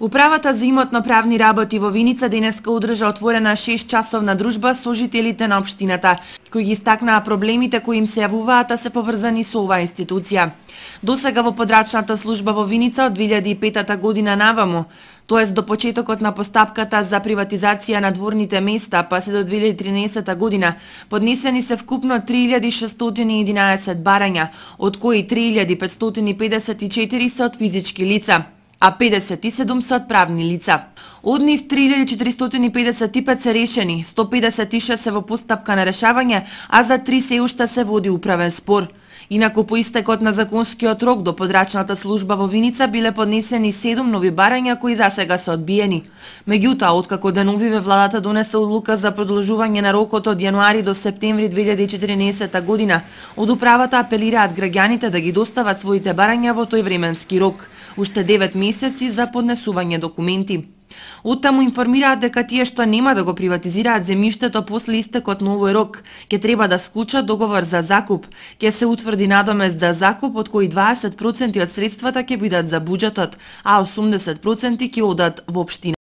Управата за имотно-правни работи во Виница денеска одржа отворена 6-часовна дружба со жителите на општината, кои ги истакнаа проблемите кои им се јавуваат, а се поврзани со оваа институција. Досега во подрачната служба во Виница од 2005 година наваму, тоест до почетокот на постапката за приватизација на дворните места, па се до 2013 година, поднесени се вкупно 3611 барања, од кои 3554 се од физички лица, а 57 се од правни лица. Од нив 3455 се решени, 156 се во постапка на решавање, а за 3 се уште се води управен спор. Инаку по истекот на законскиот рок до подрачната служба во Виница биле поднесени 7 нови барања кои засега се одбиени. Меѓутоа, откако деновиве владата донесе одлука за продолжување на рокот од јануари до септември 2014 година, од управата апелираат граѓаните да ги достават своите барања во тој временски рок, уште 9 месеци за поднесување документи. Оттаму информираат дека тие што нема да го приватизираат земјиштето после истекот на овој рок, ќе треба да склучат договор за закуп, ќе се утврди надомест за закуп од кои 20% од средствата ќе бидат за буџетот, а 80% ќе одат во општина.